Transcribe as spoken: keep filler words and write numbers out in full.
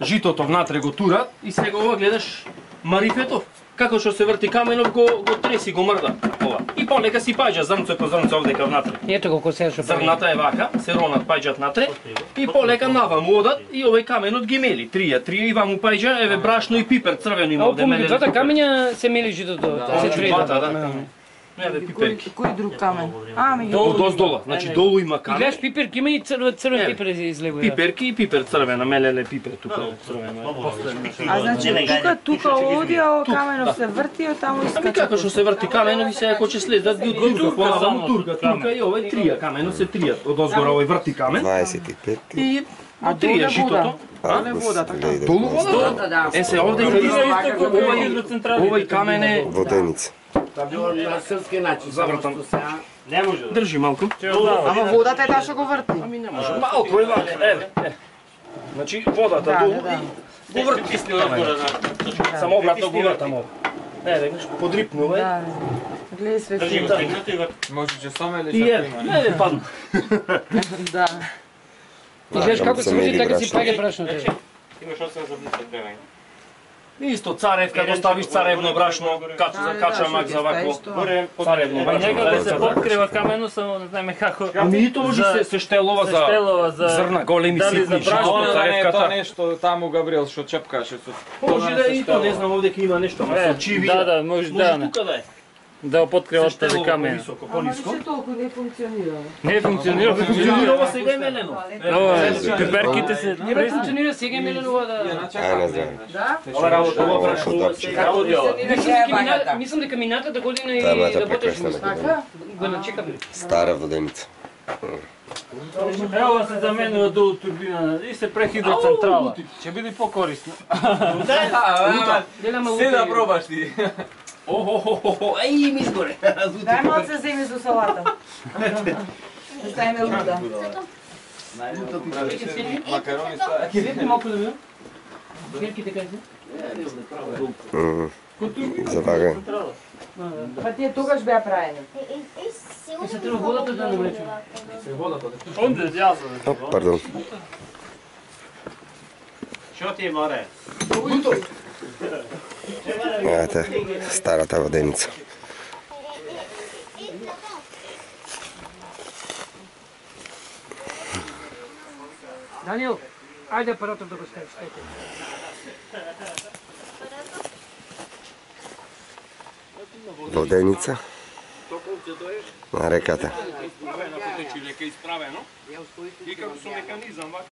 житото внатре го турат и сега ова гледаш марифетов. Како што се врти каменов го го треси, го мрда. Ова. И полека си паѓа зрнце по зрнце овдека внатре. Ето колку се што зрната е вака, се ронат паѓат натре и полека наваму одат и овој каменот ги мели. Трија, трија и ваму паѓа, еве брашно и пипер црвено има овде мелено. Двата камења се мели житото, се трета. Да. Еве пиперки. Кој друг камен? Ами ги. Долу доздола, значи долу има И камен. гледаш пиперки, има и црвен црвен пипер излегува. Пиперки и пипер црвена, мелеле пипер тука црвено. А значи тука тука оди, а каменот се врти, а таму Ами искача. како што се врти каменот и сега кој ќе слезат ги од турка, поназамо турка, турка и овој трија каменот се тријат. Од озгора овој врти камен дваесет и пет. и А од трија житото. Але вода така. Долу вода? Е се овде овој овој камен е Воденица. На српски начин. Завртам. Не може. Држи малку. Ама водата е таа што го врти. Ами не може. Малку е вака, еве. е. Значи водата долу и го врти. Само обратно го вртам ова. Еве, гледаш, подрипнува е. Да. Гледај све Држи го си. стегнато и го. Може че саме или И шако е, има? еве падна. Да. И гледаш како се врти, така си брашно. паѓа брашното. Имаш осем зрница дрвени. Исто царевка, го ставиш царевно брашно, кача за кача мак за вакво. Горе Царевно Па брашно. некако се подкрива камено, само не знаеме како. Ами и тоа може се се штелова се за штелова за зрна големи дали ситни, за брашно, жито, Она да не е тоа царевката. нешто таму Габриел што чепкаше со. Може да е и тоа, не знам овдека има нешто, ама Е, со чиви. да, да, може да, не. тука да е. Да го подкрива Се од тази штелова камен. повисоко, Ама пониско. се толку не функционира. Не функционира. Функционира ова сега е мелено. Ова, пиперките се Не бе функционира сега е мелено ова да. Ај, не знам. Да? Ова работа, ова брашно, ова Како сега оди ова. Мислам дека мина- Мислам дека мината да година и Таа да ботеш прекрасна Така? го начекаме. Стара воденица. Ева се заменува долу турбина и се прехидроцентрала. Ќе биде покорисно. Дела Се да пробаш ти. Охо, еј ми изгоре. Дај малце земи за салата. Ставиме луда. Макарони ставаат. Свети малку да ми. Герките кај се? Мм. За вага. Па тие тогаш беа праени. И се треба водата да навлечеме. Онде јазо. О, пардон. Што ти е море? Ете, старата воденица. Даниел, ајде апаратот да го ставиш. Ето. Воденица на реката. Исправено, и како со механизам